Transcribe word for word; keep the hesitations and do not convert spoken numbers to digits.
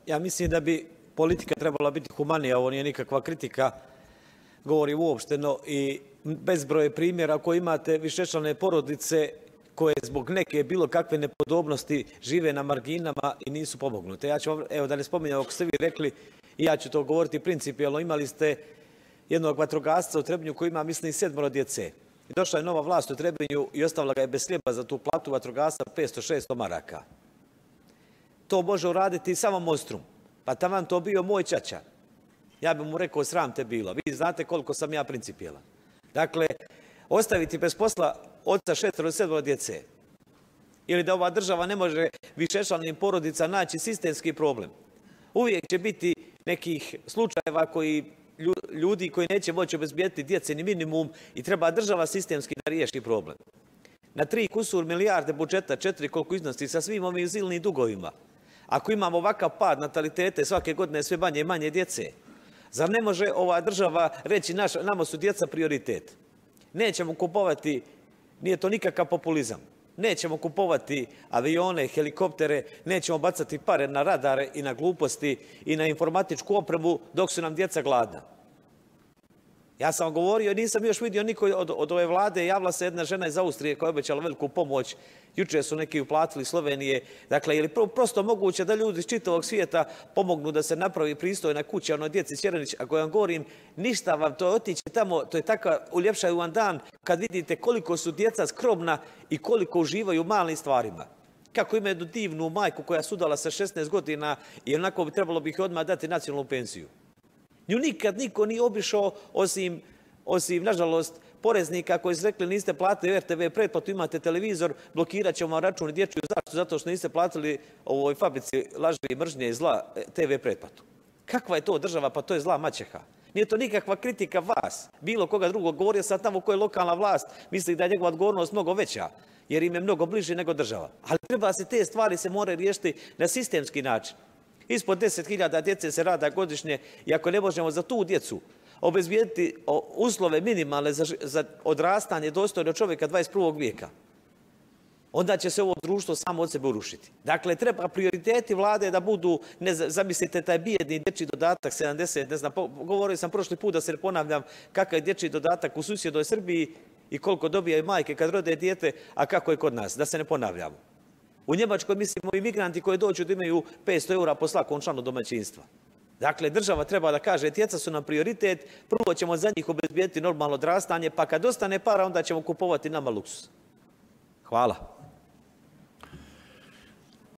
Ja mislim da bi politika trebala biti humanija, ovo nije nikakva kritika, govorim uopšteno, i bezbroj primjera koji imate višečlane porodice koje zbog neke bilo kakve nepodobnosti žive na marginama i nisu pomognute. Ja ću, evo da ne spominjam, ako ste vi rekli, i ja ću to govoriti principijelno, imali ste jednog vatrogasca u Trebinju koji ima, mislim, sedmoro djece. I došla je nova vlast u Trebinju i ostavila ga je bez hljeba za tu platu vatrogasca petsto šesto maraka. To može uraditi samo Monstrum. Pa taman to bio moj ćaća. Ja bih mu rekao, sram te bilo. Vi znate koliko sam ja principijelan. Dakle, ostaviti bez posla oca šestoro sedmoro djece. Ili da ova država ne može višečlanim porodica naći sistemski problem. Uvijek će biti nekih slučajeva koji ljudi koji neće moći obezbijeti djece ni minimum i treba država sistemski da riješi problem. Na tri kusur milijarde budžeta, četiri koliko iznosi sa svim ovim silnim dugovima. Ako imamo ovakav pad natalitete, svake godine sve manje i manje djece, zar ne može ova država reći naš, nama su djeca prioritet? Nećemo kupovati, nije to nikakav populizam, nećemo kupovati avione, helikoptere, nećemo bacati pare na radare i na gluposti i na informatičku opremu dok su nam djeca gladna. Ja sam govorio, nisam još vidio niko od, od ove vlade, javila se jedna žena iz Austrije koja je obećala veliku pomoć, juče su neki uplatili Slovenije. Dakle, je li prosto moguće da ljudi iz čitavog svijeta pomognu da se napravi pristojna kuća onoj djeci Ćeranić? Ako vam govorim, ništa vam to otići tamo, to je takav uljepšaju vam dan kad vidite koliko su djeca skromna i koliko uživaju u malim stvarima. Kako ima jednu divnu majku koja je sudala sa šesnaest godina i onako bi trebalo bi ih odmah dati nacionalnu pensiju. Nju nikad niko nije obišao osim, osim, nažalost, poreznika koji su rekli niste platili R T V pretplatu, imate televizor, blokirat ćemo vam račun i dječju zaštitu zato što niste platili ovoj fabrici laži i mržnje i zla T V pretplatu. Kakva je to država? Pa to je zla maćeha. Nije to nikakva kritika vas, bilo koga drugog. Govorio sam tamo koja je lokalna vlast, misli da je njegova odgovornost mnogo veća, jer im je mnogo bliže nego država. Ali treba se te stvari se moraju riješiti na sistemski način. Ispod deset hiljada djece se rada godišnje i ako ne možemo za tu djecu obezbijediti uslove minimalne za, za odrastanje dostojno čovjeka dvadeset prvog vijeka, onda će se ovo društvo samo od sebe urušiti. Dakle, treba prioriteti vlade da budu, ne zamislite taj bijedni dječji dodatak sedamdeset, ne znam, govorio sam prošli put da se ne ponavljam kakav je dječji dodatak u susjednoj Srbiji i koliko dobijaju majke kad rode dijete, a kako je kod nas, da se ne ponavljamo. U Njemačkoj, mislimo, i migranti koji dođu da imaju petsto eura po svakom članu domaćinstva. Dakle, država treba da kaže, djeca su nam prioritet, prvo ćemo za njih obezbijeti normalno odrastanje, pa kad ostane para, onda ćemo kupovati nama luksus. Hvala.